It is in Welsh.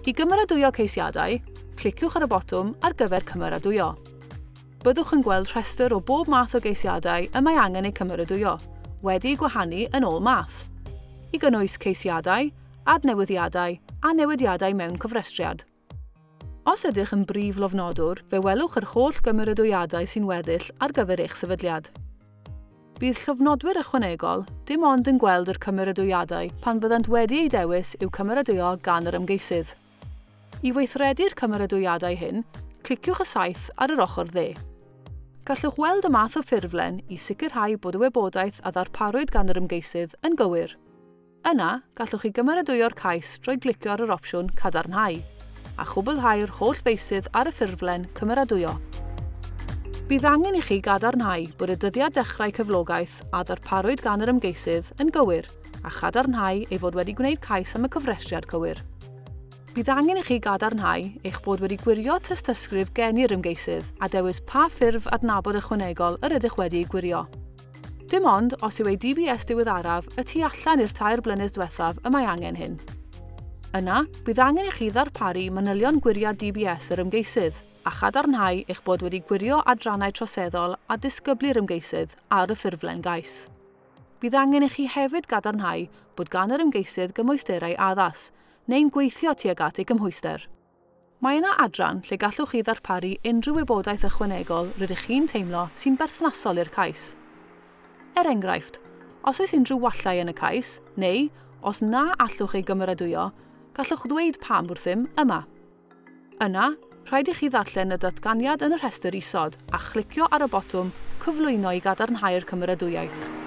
I gymeradwyo ceisiadau, cliciwch ar y botwm ar gyfer cymeradwyo. Byddwch yn gweld rhestr o bob math o geisiadau y mae angen eu cymeradwyo, wedi'u gwahanu yn ôl math, i gynnwys ceisiadau, adnewyddiadau a newidiadau mewn cofrestriad. Os ydych yn brif lofnodwr, fe welwch yr holl gymeradwyiadau sy'n weddill ar gyfer eich sefydliad. Bydd llofnodwyr ychwanegol dim ond yn gweld yr cymeradwyiadau pan fyddant wedi eu dewis i'w cymeradwyo gan yr ymgeisydd. I weithredu'r cymeradwyiadau hyn, cliciwch y saeth ar yr ochr dde. Gallwch weld y math o ffurflen i sicrhau bod y wybodaeth a ddarparwyd gan yr ymgeisydd yn gywir. Yna, gallwch chi gymeradwyo'r cais drwy glicio ar yr opsiwn Cadarnhau, a chwblhau'r holl feysydd ar y ffurflen Cymeradwyo. Bydd angen i chi gadarnhau bod y dyddiad dechrau cyflogaeth a ddarparwyd gan yr ymgeisydd yn gywir a chadarnhau ei fod wedi gwneud cais am y cofrestriad cywir. Bydd angen i chi gadarnhau eich bod wedi gwirio tystysgrif geni'r ymgeisydd a dewis pa ffurf adnabod ychwanegol yr ydych wedi ei gwirio. Dim ond os yw ei DBS diweddaraf y tu allan i'r 3 blynedd diwethaf y mae angen hyn. Yna, bydd angen i chi ddarparu manylion gwiriad DBS yr ymgeisydd a chadarnhau eich bod wedi gwirio adrannau troseddol a disgyblu'r ymgeisydd ar y ffurflen gais. Bydd angen i chi hefyd gadarnhau bod gan yr ymgeisydd gymwysterau addas neu'n gweithio tuag at ei gymhwyster. Mae yna adran lle gallwch chi ddarparu unrhyw wybodaeth ychwanegol rydych chi'n teimlo sy'n berthnasol i'r cais. Er enghraifft, os oes unrhyw wallau yn y cais, neu os na allwch ei gymeradwyo, gallwch ddweud pam wrthym yma. Yna, rhaid i chi ddarllen y datganiad yn y rhestr isod a chlicio ar y botwm Cyflwyno i gadarnhau'r cymeradwyaeth.